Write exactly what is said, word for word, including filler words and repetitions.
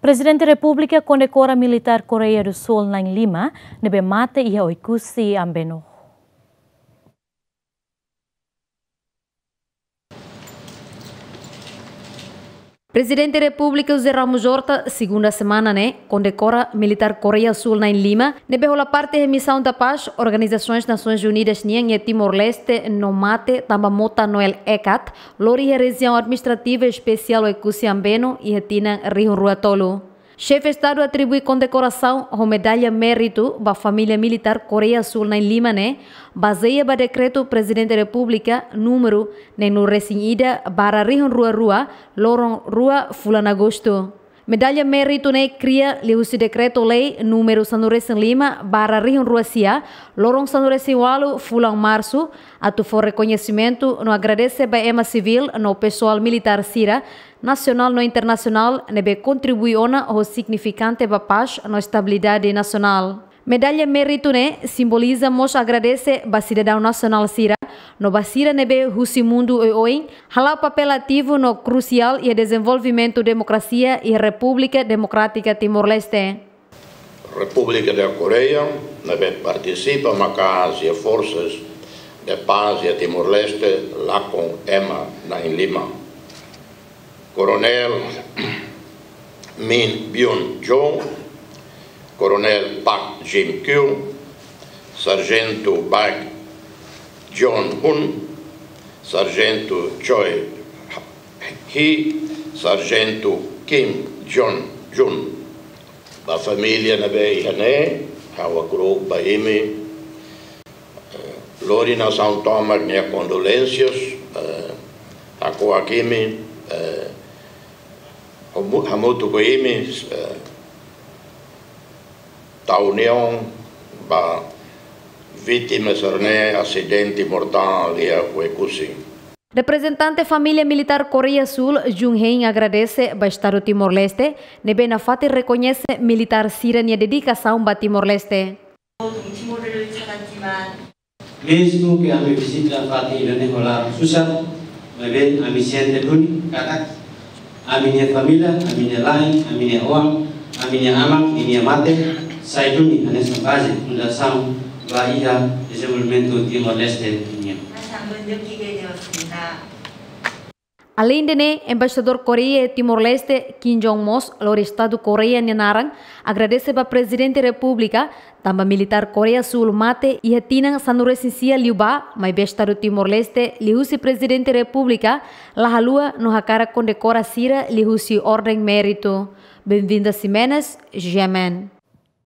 Prezidente Repúblika kondekora militár Koreia do Sul na'in-lima ne'ebé mate iha Oekusi Ambeno. Prezidente Repúblika José Ramos Horta, segunda semana ne'e, kondekora militár Koreia Sul na'in-lima ne'ebé hola parte iha misaun da pás Organizasoens Nasoins Unidas nian iha Timor-Leste no mate tanba mota Noel Ekat, lori iha Rejiaun Administrativa Espesiál Oekusi Ambeno iha tinan rihun rua tolu. Xefe Estadu atribui kondekorasaun ho medalla méritu ba família militár Koreia Sul na'in-lima ne'e, bazeia ba dekretu Prezidente Repúblika númeru neenulu-resin-ida barra rihun rua rua, loron rua fulan Agostu. Medalla méritu ne'e kria liuhusi dekretu-lei númeru sanulu-resin-lima barra rihun rua sia, loron sanulu-resin-ualu fulan Marsu, atu fó rekoñesimentu no agradese ba ema sivíl no pesoál militár sira, nasionál no internasionál, ne'ebé kontribui ona ho signifikante ba pás no estabilidade nasionál. Medalla méritu ne'e simboliza mós agradese ba sidadaun nasionál sira, no ba sira ne'ebé husi mundu oioin, hala'o papél ativu no krusiál iha dezenvolvimentu demokrasia iha Repúblika Demokrátika Timor-Leste. Repúblika da Koreia, ne'ebé partisipa maka'as iha forsas de pás iha Timor-Leste, lakon ema na'in-lima. Koronél Min Byun Jo, Koronél Park Jin Kyu, Sarjentu Baek Jeon Hun, Sarjentu Choi Hee, Sarjentu Kim Jong Jun. Ba família ne'ebé iha ne'e, ha'u hakarak ba imi, eh, lori nasaun tomak nia kondolénsias, eh, hako'ak imi, eh, hamu-, hamutuk ho imi, eh, tau uniaun ba vítima sira-ne'e asidente mortál iha Oekusi. Reprezentante família militár Koreia Sul, Jun Hein, agradese ba Estadu Timor-Leste ne'ebé nafatin rekoñese militár sira-nia dedikasaun ba Timor-Leste. Mezmu ke ami vizita fatin ida-ne'e ho laran susar, maibé ami sente duni katak ami-nia família, ami-nia la'en, ami-nia oan, ami-nia aman ninia mate sai duni hanesan baze fundasaun ba iha dezenvolvimentu Timor-Leste nian. Aleinde ne'e, Embaixadór Koreia iha Timor-Leste, Kim Jong mós, lori Estadu Koreia nia naran, agradese ba Prezidente Repúblika, tanba militár Koreia Sul mate iha tinan sanulu-resin-sia liubá, maibé Estadu Timor-Leste, liuhusi Prezidente Repúblika, la haluha no hakarak kondekora sira liuhusi orden méritu. Benvinda Ximenes, G M N.